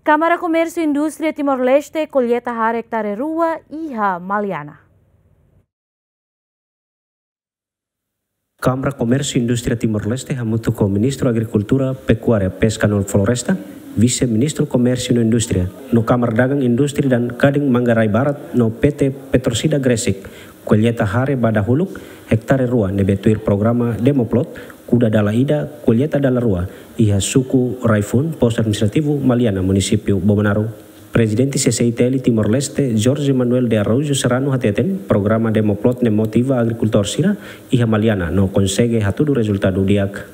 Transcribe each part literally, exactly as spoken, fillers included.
Kámara Komérsiu Indústria Timor-Leste kolleita hare ektare rua iha Maliana. Kámara Komérsiu Indústria Timor-Leste hamutuk ho Ministru Agrikultura, Pekuária, Peska no Floresta, Vise-Ministru Komérsiu no Indústria, no Kámara Dagang Indústria dan Kadin Manggarai Barat no P T Petrosida Gresik, kolleita hare ba dahuluk ektare rua ne'ebé tuir programa Demoplot, kuda dala ida, kolleita dala rua, iha suku Raifun, Postu Administrativu Maliana, Munisípiu Bobonaro. Prezidente C C I T L Timor-Leste, Jorge Manuel de Araújo Serrano hateten, programa Demoplot ne'e motiva agrikultór sira iha Maliana no konsege hatudu rezultadu di'ak.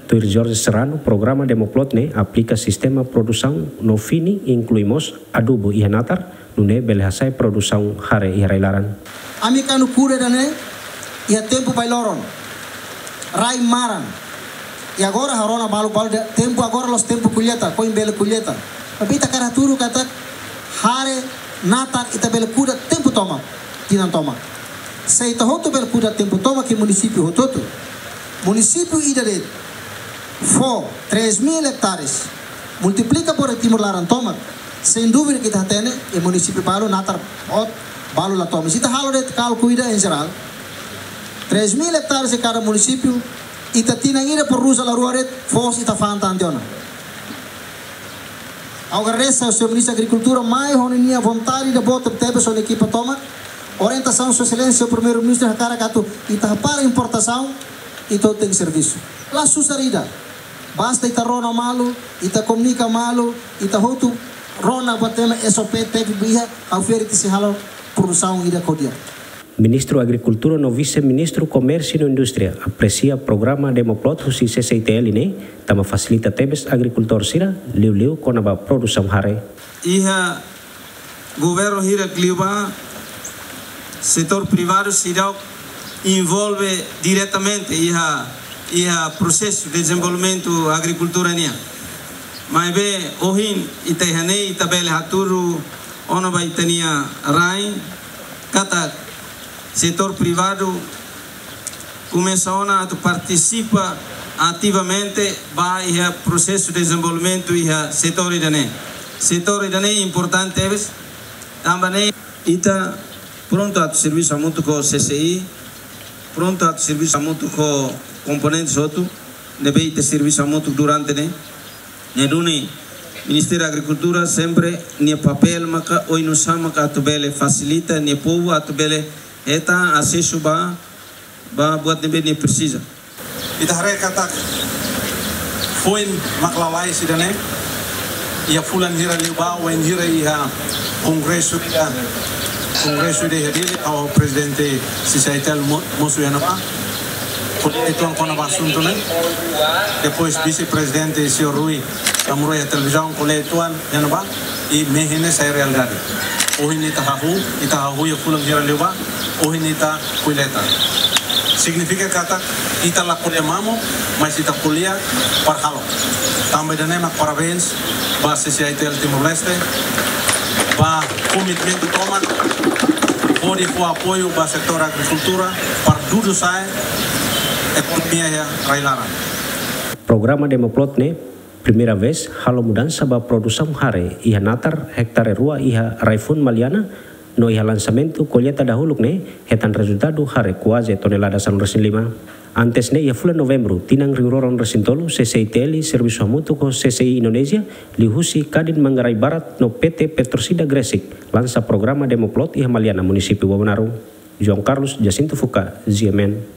Tuir Jorge Serrano, programa Demoplot ne'e aplika sistema produsaun no fini, inklui mós adubu iha natar, nune'e bele hasa'e produsaun hare iha rai-laran. Ami kuandu kuda ida-ne'e iha tempu bailoron, rai maran. I agora ha'u rona balu, balu dehan tempu agora la'ós tempu kolleita, foin bele kolleita. Tapi ita hakarak hatudu katak hare natar ita bele kuda tempu tomak, tinan tomak. Se ita hotu bele kuda tempu tomak iha munisípiu hotu-hotu, munisípiu ida de'it fó três mil hectares, multiplika por Timor laran tomak, sem dúvida ita hatene iha munisípiu balu natar boot, balu la tomak. Se ita halo de'it kálkulu ida em geral, três mil hectares em cada município, ita tinan ida produz dala rua de'it, foos ita fa'an tan tiha ona. Ha'u agradese ao señór Ministru Agrikultura mai ho ninia vontade ida boot tebes ho nia ekipa tomak. Orientasaun Sua Exelénsia Primeiru-Ministru hakarak atu ita hapara importasaun, ita tenke servisu. La susar ida. Basta ita rona malu, ita komunika malu, ita hotu rona buat ema S O P tékniku iha, ha'u fiar ita sei halo produsaun ida ho di'ak. Ministru Agrikultura no Vise-Ministru Komérsiu no Indústria apresia programa Demoplot husi C C I T L ne'e, tanba fasilita tebes agrikultór sira, liuliu kona-ba produsaun hare. Iha governu hirak liubá, setór privadu seidauk envolve diretamente iha, iha prosesu dezenvolvimentu agrikultura nian. Maibé ohin ita iha ne'e ita bele hatudu ona ba ita-nia rain, katak setór privadu komesa ona atu partisipa ativamente ba iha prosesu dezenvolvimentu iha setór ida-ne'e. Setór ida-ne'e importante tebes, tanba ne'e ita prontu atu servisu hamutuk ho C C I, prontu atu servisu hamutuk ho komponentes hotu ne'ebé ita servisu hamutuk durante ne'e. Ne'e duni Ministériu Agrikultura sempre nia papél maka oinsá maka atu bele fasilita nia povu atu bele hetan asesu ba, ba buat ne'ebé nia presiza. Ita haree katak foin mak lalais ida-ne'e, iha fulan hira liubá, wainhira iha kongresu ida, kongresu ida iha Dili, ha'u ho prezidente C C I T L mo-, mosu iha ne'ebá. Ko'alia uitoan kona-ba asuntu ne'e. Depois vise-prezidente señór Rui Tamuroi iha televizaun ko'alia uitoan iha ne'ebá, i mehi ne'e sai realidade. Ohin ita hahú, ita hahú iha fulan hira liubá, ohin ita kolleita. Signifika katak ita la ko'alia mamuk, mas ita ko'alia para halo. Tanba ida-ne'e mak parabéns ba C C I T L Timor-Leste, ba komitmentu tomak hodi fó apoiu ba setór agrikultura para dudu sa'e ekonomia iha rai-laran. Programa Demoplot ne'e primeira vez halo mudansa ba produsaun hare iha natar ektare rua iha Raifun Maliana, no iha lansamentu kolleita dahuluk ne'e hetan rezultadu hare kuaze tonelada sanulu-resin-lima. Antes ne'e iha fulan Novembru, tinan rihun rua ruanulu-resin-tolu, C C I T L servisu hamutuk ho C C I Indonézia, liuhusi Kadin Manggarai Barat no P T Petrosida Gresik, lansa programa Demoplot iha Maliana, Munisípiu Bobonaro. João Carlos Jacinto Fuca, G M N.